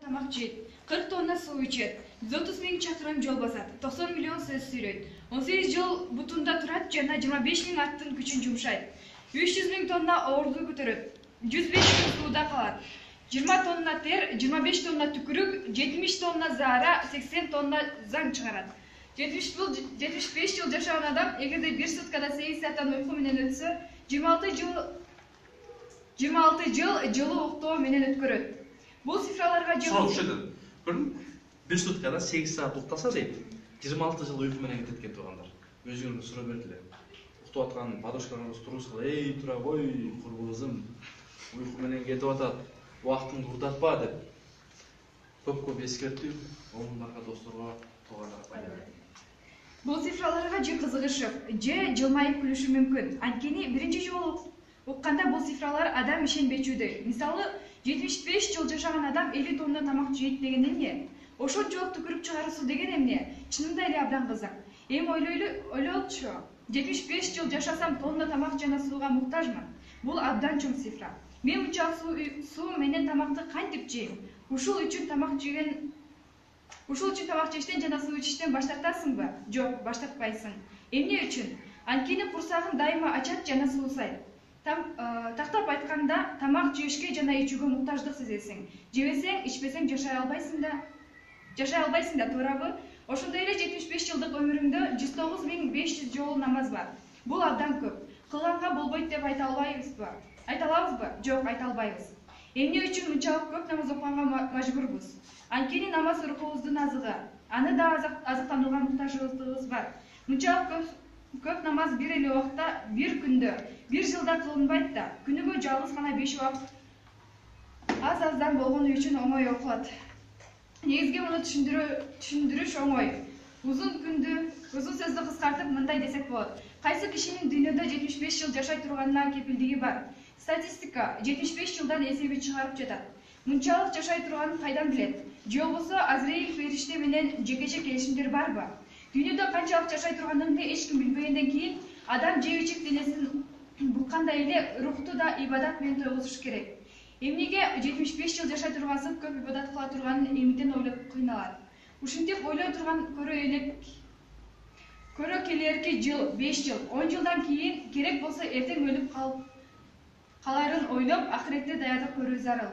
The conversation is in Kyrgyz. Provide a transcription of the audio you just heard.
Тамак жейт, 40 тонна суу ичет, 130 000 чакырым жол басат, 90 миллион сөз сүйлөйт, 18 жыл бутунда турат жана 25 000 аттын күчүн жумшайт, 300 000 тонна оорлук көтөрөт, 105 күн сууда калат, 20 тонна тер, 25 тонна түкүрүк, 70 тонна заара, 80 тонна заң чыгарат. 75 жыл жашаган адам эгерде бир суткада 8 сааттан уйку менен өтсө, 26 жыл жылуу уктоо менен өткөрөт. Бул цифраларга бир суткада 8 саат уктаса дейт, 26 жыл уйку менен кетет экен туугандар. Өзүңөргө суроо бердилер. Уктап аткан подружкаларыбыз турушкала, "Эй, тура кой, курбузум, уйку менен кетип атат, убактыңды урдатпа" деп. Көп эскертүү, оңундарга, досторго, туугандарга пайда берет. Бул цифраларга же кызыгышып, же жылмайып күлүшү мүмкүн. Анткени биринчи жолу укканда бул цифралар адам ишенбечүдөй. Мисалы, 75 жыл жашаган адам 50 тонна тамак жейт деген эмне? Ошончолук түкүрүк чыгаруусу деген эмне? Чынында эле абдан кызык. Эми ойлолчу, 75 жыл жашасам тонна тамак жана сууга муктажмын. Бул абдан чоң цифра. Мен мынчалык суу менен тамакты кантип жейм? Ушул үчүн тамак жештен жана суу ичиштен баш тартасыңбы? Жок, баш тартпайсың. Эмне үчүн? Анткени курсагың дайыма ачат жана суусайт. Тактап айтканда, тамак жешке жана ичүүгө муктаждык сезесиң. Жебесең, ичпесең жашай албайсың да, туурабы? Ошондой эле 75 жылдык өмүрүңдө 109 500 жолу намаз бар. Бул абдан көп. Кылганга болбойт деп айта алабызбы? Жок, айта албайбыз. Эмне үчүн мынчалык көп намаз окуганга мажбурбуз? Анткени намаз рухубуздун азыгы. Аны да азыктанууга муктажыбыз бар. Мынчалык көп намаз бир эле убакта, бир күндө, бир жылда кылынбайт да. Күнүгө жалгыз гана 5 убакыт аз-аздан болгону үчүн оңой окулат. Негизги муну түшүндүрүш оңой. Узун сөздү кыскартып мындай десек болот. Кайсы кишинин дүйнөдө 75 жыл жашай турганына кепилдиги бар? Статистика 75 жылдан эсеби чыгарып жатат. Мынчалык жашай турганын кайдан билет? Же болбосо Азраил фериште менен жекече келишимдер барбы? Дүйнөдө канчалык жашай турганыңды эч ким билбегенден кийин адам жебичек денесин буккандай эле рухту да ибадат менен тойгузуш керек. Эмнеге 75 жыл жашай тургансып көп ибадат кыла турганын эмитен ойлоп кыйналат. Ушинтип ойлой турган көрө келерки жыл, 5 жыл, 10 жылдан кийин керек болсо эртең өлүп каларын ойлоп, акыретте даярдык көрүү зарыл.